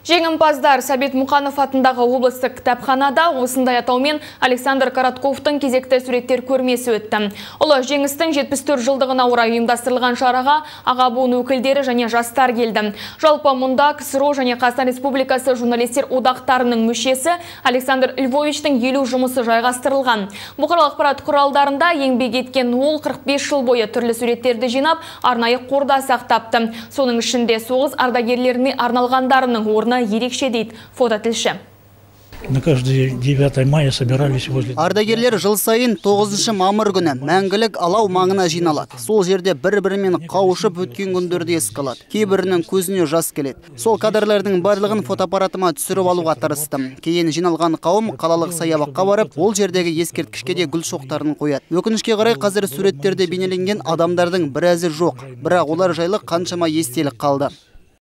Жеңімпаздар Сәбит Мұқанов атындағы облыстық кітапханада осындай атаумен Александр Коротковтың кезекті суреттер көрмесі өтті. Ұлы жеңістің 74 жылдығына орай ұйымдастырылған шараға аға буын өкілдері және жастар келді. Жалпы мұнда КСРО және Қазақстан Республикасы журналистер одақтарының мүшесі Александр Львовичтің 50 жұмысы жайғастырылған. Бұқаралық ақпарат құралдарында еңбек еткен ол 45 жыл бойы түрлі суреттерді жинап, арнайы қорда сақтапты. Соның ішінде соғыс ардагерлеріне арналғандарының орны ерекше дейді фототілші. На каждый 9 мая собирались возле... Ардагерлер жыл сайын 9 мамыр күні мәңгілік алау маңына жиналады. Сол жерде бір-бірімен қауышып өткен күндерді еске алады. Кейбірінің көзіне жас келеді. Сол кадрлардың барлығын фотоаппаратыма түсіріп алуға тырыстым. Кейін жиналған қауым қалалық саябаққа барып, ол жердегі ескерткішке де гүл шоқтарын қояды. Өкінішке қарай қазір суреттерде бейнеленген адамдардың біразы жоқ. Бірақ олар жайлы қаншама естелік қалды.